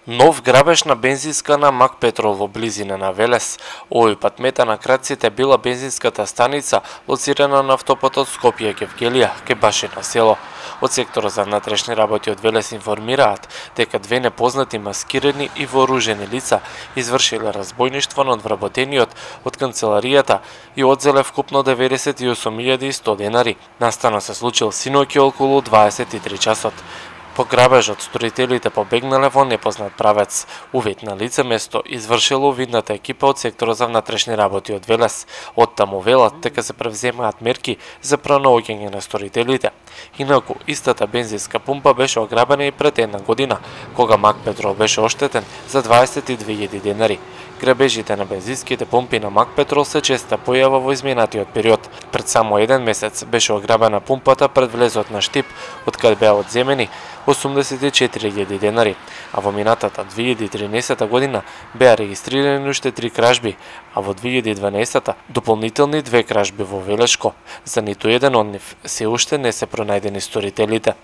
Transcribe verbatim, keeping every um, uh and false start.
Нов грабеж на бензинска на Макпетрол во близина на Велес. Овој пат мета на крадците била бензинската станица лоцирана на автопатот Скопје-Кевгелија, кај Башина село. Од секторот за внатрешни работи од Велес информираат дека две непознати маскирани и вооружени лица извршиле разбојништво над вработениот од канцеларијата и одзеле вкупно деветдесет и осум илјади и сто денари. Настанот се случил синоќа околу дваесет и три часот. По грабежот, сторителите побегнале во непознат правец. Увид на лице место извршило видната екипа од секторот за внатрешни работи од Велес. Оттаму велат дека се превземаат мерки за пронаоѓање на сторителите. Инаку, истата бензинска пумпа беше ограбена и пред една година, кога Макпетрол беше оштетен за дваесет и две илјади денари. Грабежите на бензинските пумпи на Макпетрол се честа појава во изминатиот период. Пред само еден месец беше ограбена пумпата пред влезот на Штип, од каде беа одземени осумдесет и четири илјади денари, а во минатата две илјади и тринаесетта година беа регистрирани уште три кражби, а во две илјади и дванаесетта дополнителни две кражби во Велешко. За ниту еден од нив се уште не се пронајдени сторителите.